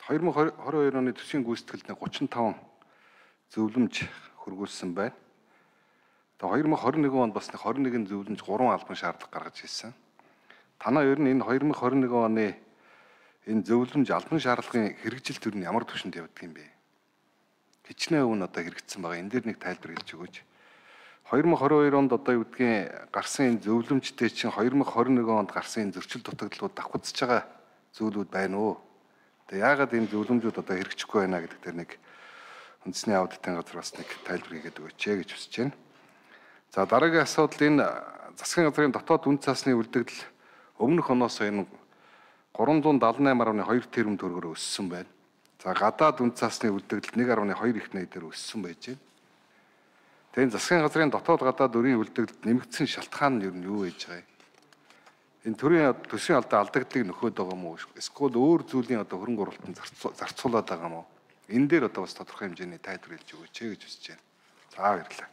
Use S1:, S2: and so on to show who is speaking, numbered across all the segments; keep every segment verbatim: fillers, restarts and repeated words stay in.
S1: хоёр мың хоёр mươi хоёр оны төсвийн гүйцэтгэлд гучин таван зөвлөмж хөргүүлсэн байна. Тэгээ хоёр мың хорин нэгэн онд бас хорин нэгэн зөвлөмж гурван албан шаардлага гаргаж ирсэн. Танаа ер нь энэ хоёр мың хорин нэгэн оны энэ зөвлөмж албан шаардлагын хэрэгжил төр нь ямар түвшинд явдаг юм бэ? Хичнээн өвн одоо хэрэгжсэн байгаа. Энэ дээр нэг тайлбар хэлж өгөөч. хоёр мың хорин хоёр онд одоо юу гэдгийг гарсан энэ зөвлөмжтэй чинь хоёр мың хорин нэгэн онд гарсан энэ зөрчил дутагдлууд давхцаж байгаа зүйлүүд байна уу? Тэгээ яагаад энэ зөвлөмжүүд одоо хэрэгжихгүй байна гэдэг дээр нэг үндэсний аудитын газраас нэг тайлбар хийгээд өгөөч гэж хүсэж байна. За дараагийн асуудал энэ засгийн газрын дотоод үн цасны үлдэгдэл өмнөх оноос энэ гурван зуун дадлан найман гаруй хоёр тэрбум төгрөгөөр өссөн байна. За гадаад үн цасны үлдэгдэл нэг гаруй хоёр их найдаар өссөн байж байна. Тэгээд засгийн газрын дотоод гадаад өрийн үлдэгдэлд нэмэгдсэн шалтгаан нь юу нь юу байж байгаа юм? Энэ төрийн төсвийн алдаа алдагдлыг нөхөд байгаа юм уу? Эсвэл өөр зүйлийн одоо хөрөнгө оруулалтанд зарцуулаад байгаа юм уу? Энэ дээр одоо бас тодорхой хэмжээний тайлбар хэлж өгөөч гэж хүсэж байна. За баярлалаа.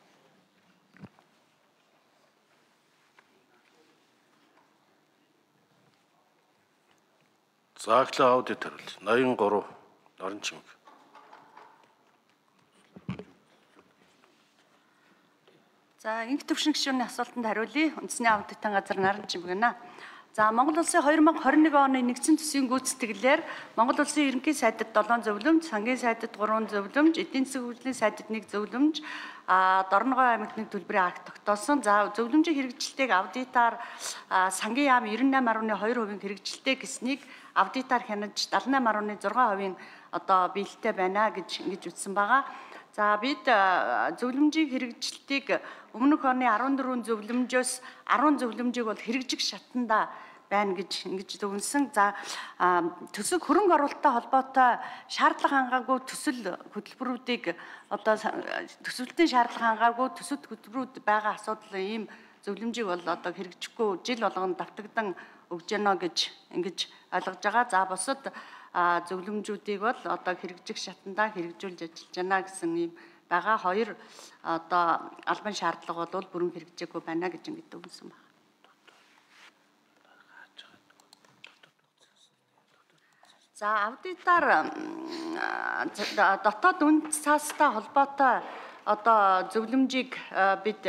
S2: Зааглаа аудит хариулт ноён гурав Норон Чимэг.
S3: За инх төвшин гишүүний асуултанд хариулъя. Үндэсний аудитын газар Норон Чимэг гэнэ. За Монгол Улсын хоёр мың хорин нэгэн оны нэгдсэн төсвийн гүйцэтгэлээр Монгол Улсын ерөнхий сайдад долоон зөвлөмж, сангийн сайдад гурван зөвлөмж, эдийн засгийн хөгжлийн сайдад нэг зөвлөмж, а Дорногой аймагт нэг төлбөрийн акт тогтоосон. За зөвлөмжийн хэрэгжилтийг аудитаар сангийн яам девяносто восемь целых two хувийн хэрэгжилтээ гэснийг аудитаар хянаж седьмидесяти восемь целых six хувийн одоо биелэлтэй байна гэж ингэж үздсэн байгаа. За бид зөвлөмжийн хэрэгжилтийг өмнөх оны арван дөрвөн зөвлөмжөөс арван зөвлөмжийг бол хэрэгжих шатанда байна гэж ингэж зөвлөсөн. За төсөв хөрөнгө оруулалттай холбоотой шаардлага хангаагүй төсөл хөтөлбөрүүдийг одоо төсвөлтийн шаардлага хангаагүй төсөлт хөтөлбөрүүд байгаа асуудал ийм зөвлөмжийг бол одоо хэрэгжихгүй жил болгоно давтагдан өгж яана гэж ингэж ойлгож байгаа. За бусад зөвлөмжүүдийг бол одоо хэрэгжих шатандаа хэрэгжүүлж ажиллаж байна гэсэн ийм байгаа. Хоёр одоо албан шаардлага бол бүрэн хэрэгжээгүй байна гэж ингэж өгсөн байна. За аудитаар дотоод үн цастай холбоотой одоо зөвлөмжийг бид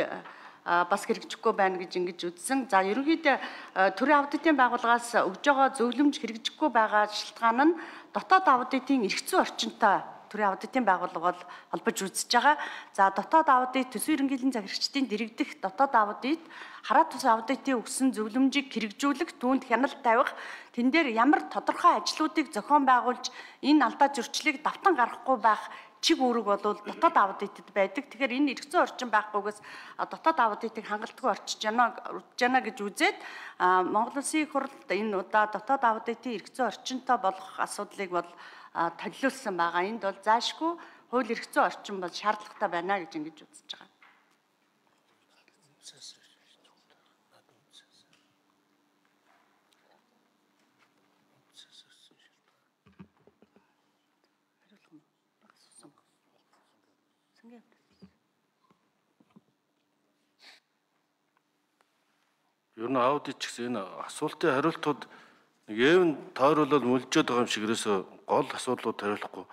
S3: бас хэрэгжихгүй байна гэж ингэж үзсэн. За ерөнхийдөө төрийн аудитын байгууллагаас өгж байгаа зөвлөмж хэрэгжихгүй байгаа шалтгаан нь дотоод аудитын эрх зүйн орчинтой төрийн аудитын байгууллага бол холбож үзэж байгаа. За дотоод аудит төсвийн ерөнхийлөгчийн захирагчдын дэргэдэх дотоод аудит хараат тус аудитын өгсөн зөвлөмжийг хэрэгжүүлэх, түүнд хяналт тавих, тэн дээр ямар тодорхой ажлуудыг зохион байгуулж энэ алдаа зөрчлийг давтан гаргахгүй байх чиг үүрэг бол дотоод аудитэд байдаг. Тэгэхээр энэ эрх зүйн орчин байхгүйгээс дотоод аудитыг хангалтгүй орчиж яана урдж яана гэж үзээд Монгол Улсын их хурлд энэ удаа дотоод аудитын эрх зүйн орчинтой болох асуудлыг бол төлөвлөсөн байгаа. Энд бол заашгүй хууль эрх зүйн орчин бол шаардлагатай байна гэж ингэж үзэж байгаа.
S2: Ер нь аудит ч гэсэн энэ асуултын хариултууд нэг эвэн тойруулал мөлжөөд байгаа юм шиг ерөөсө гол асуудлууд хариулахгүй.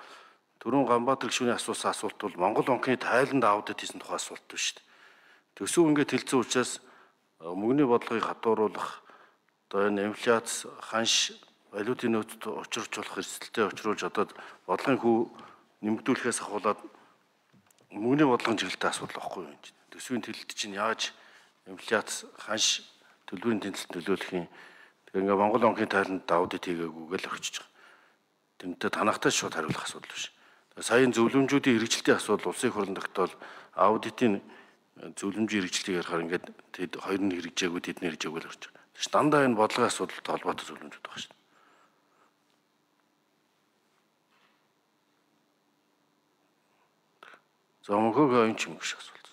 S2: Түрүүн Ганбаатар гишүүний асуусан асуулт бол Монгол банкны тайланд аудит хийсэн тухай асуулт биш шүү дээ. Төсөв ингээд хэлсэн учраас мөнгөний бодлогыг хатууруулах, одоо энэ инфляц, ханш, валютын нөөцөд учруулах эрсдэлтэй учруулж одоо бодлогын хүү нэмэгдүүлэхээс ахуулаад мөнгөний бодлогын чиглэлтэй асуудал байхгүй юм. Төсвийн төлөлт чинь яаж инфляц, ханш төлбөрийн тэнцэлт нөлөөлөх юм. Тэгээ ингээ Монгол банкны тайланд аудит хийгээгүй л орчиж байгаа. Тэмдээ танахтай шууд хариулах асуудал биш. Саяын зөвлөмжүүдийн хэрэгжилтийн асуудал улсын хурлын тогтоол аудитын зөвлөмжийн хэрэгжилтийг ярихаар ингээд тэд хоёр нь хэрэгжээгүй тэд нь хэрэгжээгүй л орж байгаа. Тэгш дандаа энэ бодлогын асуудалтай холбоотой зөвлөмжүүд байгаа шүү дээ. За мөнхөөгөө энэ ч юм шиг асуулт.